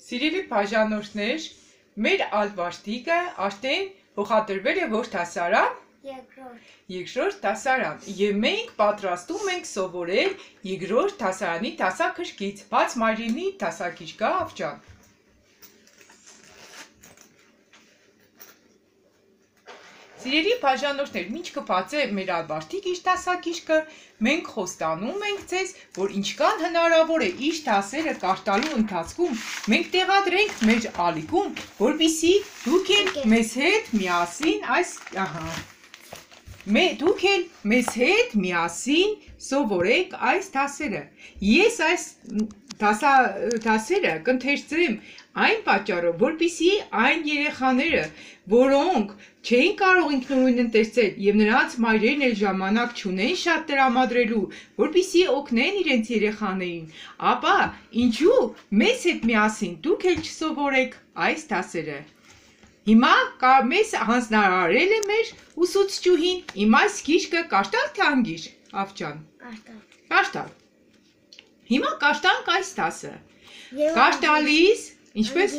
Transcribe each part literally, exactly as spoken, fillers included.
Սիրելի բաժանորդներ, մեր ալվաշտիկը արդեն փոխադրվել է որ դասարան? Երկրորդ դասարան։ Եվ մենք պատրաստում ենք սովորել երկրորդ դասարանի դասակարգից, բաց մայրենի դասակարգը ավճան։ Սիրելի բաժանորդներ, ինչ կբացե մեր ալվաշտիկ իր դասակարգը, մենք խոստանում ենք ձեզ, որ ինչքան հնարավոր է իր դասերը կարդալու ընթացքում մենք տեղադրենք մեր ալիքում, որպեսզի դուք էլ մեզ հետ միասին այս ահա դուք էլ մեզ հետ միասին սովորեք այս դասերը։ Ես այս դասերը կընթերցեմ այն պատճառով, որպեսզի այն երեխաները, որոնք չէին կարող ինքնուրույն ընթերցել եւ նրանց մայրերն էլ ժամանակ չունեն շատ տրամադրելու, որպեսզի օգնեն իրենց երեխաներին, ապա ինչու մեզ հետ միասին դուք էլ չսովորեք այս դասերը։ Հիմա մեզ հանձնարարել է մեր ուսուցչուհին, իմ այս գիրքը կարդալ թե անգիր, Ավճան։ Կարդալ։ Հիմա կարդանք այս դասը։ Կարդալիս, ինչպես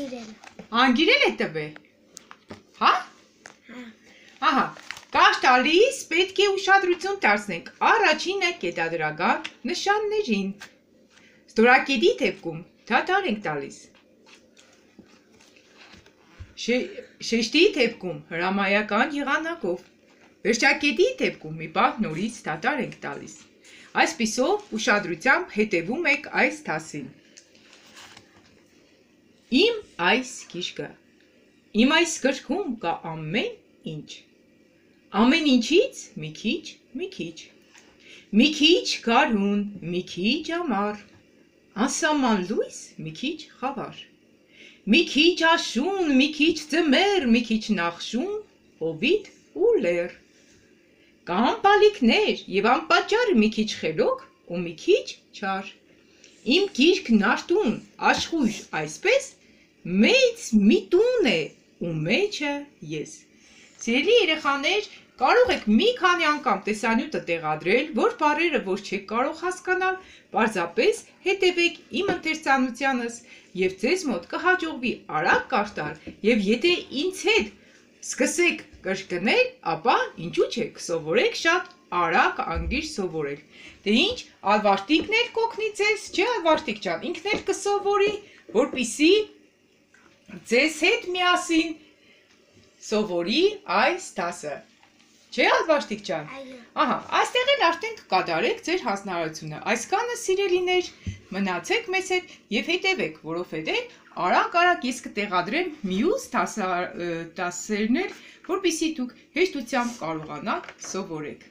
անգիրել է տվել։ Հա։ Ահա, կարդալիս պետք է ուշադրություն դարձնենք առաջինը կետադրական նշաններին։ Ստորակետի դեպքում դադար ենք տալիս։ Շեշտի դեպքում հրամայական եղանակով, վերջակետի դեպքում մի պահ նորից դադար ենք տալիս։ Այսպիսով ուշադրությամբ հետևում եք այս դասին։ Իմ այս գիրքը, իմ այս գրքում կա ամեն ինչ։ Ամեն ինչից մի քիչ, մի քիչ։ Մի քիչ գարուն, մի քիչ ամառ, անսահման լույս, մի քիչ խավար։ Մի քիչ աշուն, մի քիչ ձմեռ, մի քիչ նախշուն, հովիտ ու լեռ։ Կան բալիկներ եւ անպատճառ մի քիչ խելոք ու մի քիչ չար։ Իմ գիրքն արտուն, աշխույժ, այսպես մեծ մի տուն է ու մեջը ես։ Սիրելի երեխաներ, կարող եք մի քանի անգամ տեսանյութը տեղադրել, որ բառերը որ չեք կարող հասկանալ, պարզապես հետևեք իմ ընթերցանությանս եւ ձեզ մոտ կհաջողվի արագ կարդալ եւ եթե ինձ հետ սկսեք կրկնել, ապա ինչու՞ չէ կսովորեք շատ արագ անգիր սովորել։ Դե ինչ, ալվաշտիկն էլ կօգնի ձեզ, չէ՞ ալվաշտիկ ջան, ինքն էլ կսովորի, որպեսզի ձեզ հետ միասին սովորի այս դասը։ Չէ՞ ալվաշտիկ ջան։ Ահա, այստեղ էլ արդեն կկատարեք ձեր հանձնարարությունը։ Այսքանը սիրելիներ, մնացեք մեզ հետ եւ հետևեք, որովհետեւ արագ-արագ ես կտեղադրեմ մյուս դասերներ, որպեսզի դուք հեշտությամբ կարողանաք սովորեք։